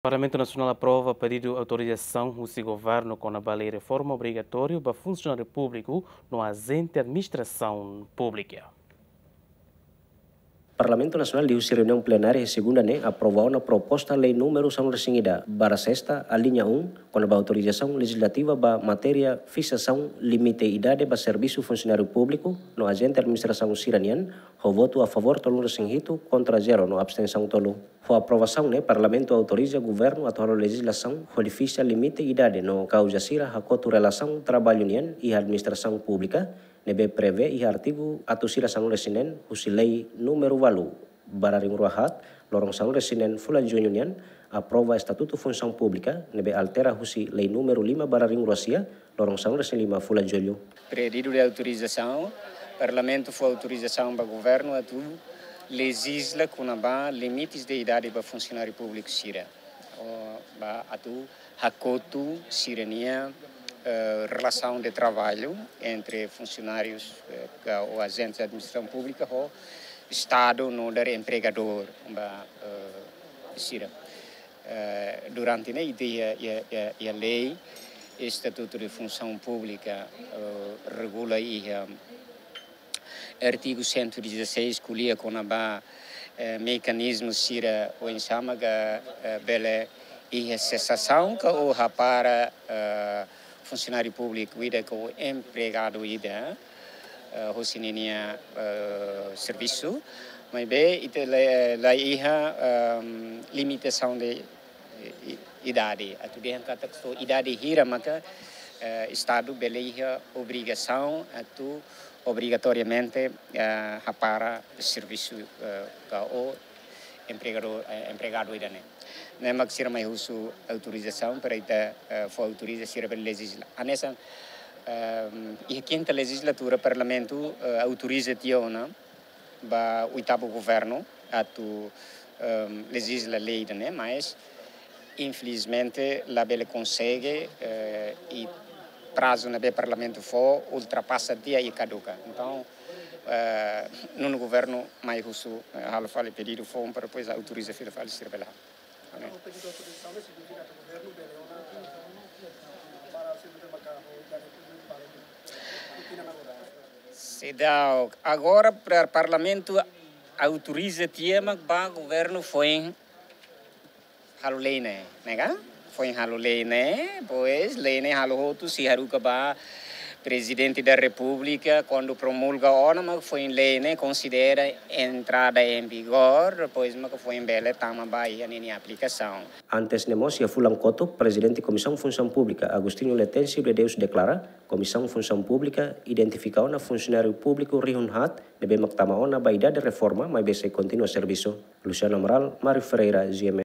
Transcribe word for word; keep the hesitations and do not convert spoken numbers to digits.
Parlamentu Nasionál aprova pedidu autorizasaun husi governu kona-ba lei reforma obrigatóriu ba funsionáriu públiku no ajente administrasaun públika. Parlamentu Nasionál liuhusi reuniaun plenária iha segunda ne'e aprova ona proposta lei númeru sanulu-resin-ida barra sesta, alínea um, kona-ba autorizasaun lejizlativa ba matéria fiksasaun limite idade ba servisu funsionáriu públiku no ajente administrasaun sira-nian, ho votu a favór tolunulu-resin-hitu, kontra zero no abstensaun tolu. Ho aprovasaun ne'e, Parlamentu autoriza governu atu halo lejizlasaun hodi fiksa limite idade no kauza sira hakotu relasaun traballu nian iha administrasaun públika, ne'ebé prevee iha artigu atus ida sanulu-resin-neen husi lei númeru ualu barra ringrua haat, loron sanulu-resin-neen fulan Juñu nian, aprova Estatutu Funsaun Públika, ne'ebé altera husi lei númeru lima barra ringrua sia, loron sanulu-resin-lima fulan Jullu. Pedidu de autorizasaun, Parlamentu fó autorizasaun ba governu atu lejizla kona-ba limites de idade ba funsionáriu públiku sira. Ó, ba atu hakotu sira-nia, eh, relasaun de traballu entre funsionárius, eh, ka, ou ajentes de administrasaun públika ho Estadu nu'udar empregadór ba, eh, sira. Eh, durante ne'e ita iha, iha, iha, iha lei, Estatutu de Funsaun Públika, eh, regula iha artigu cento e dezasseis, ko'alia kona-ba, eh, mekanizmu sira oinsá maka, eh, bele iha sesasaun ka ou hapara, eh, funsionáriu públiku ida ka ou empregadu ida, eh, hosi ninia, eh, servisu, maibé ita la, la iha, ehm, limitasaun de, eh, i-, idade. Atu dehan katak só idade hira maka, eh, Estadu bele iha obrigasaun atu obrigatoriamente, eh, hapara servisu, eh, ka ou empregadu, eh, empregadu ida-ne'e. Ne'e mak sira mai husu autorizasaun para ita, eh, fó autoriza sira bele lejizla. Hanesan, ehm, iha kinta lejizlatura Parlamentu, eh, autoriza tiha ona ba oitavu governu atu, ehm, lejizla lei ida-ne'e, mas infelizmente la bele konsege, eh, i prazu ne'ebé Parlamentu fó ultrapasa tiha i kaduka. Entaun, eh, nonu governu mai husu, eh, halo fali pedidu foun para depois autoriza fila fali sira bele halo. Amén. Seidauk, agora para Parlamentu autoriza tiha mak ba governu foin halo lei ne'e, ne'e ka? Foin halo lei ne'e, pois lei ne'e halo hotu sei haruka ba Prezidente da Repúblika, kuandu promulga ona mak foin lei ne'e konsidera entrada em vigor, depois mak foin bele tama ba iha ninia aplikasaun. Antes ne'e mós iha fulan kotuk, Prezidente Komisaun Funsaun Públika, Agostinho Letêncio de Deus deklara, Komisaun Funsaun Públika identifika ona funsionáriu públiku rihun haat ne'ebé mak tama ona ba idade reforma, maibé sei kontinua servisu. Luciano Amaral, Mário Ferreira, G M N.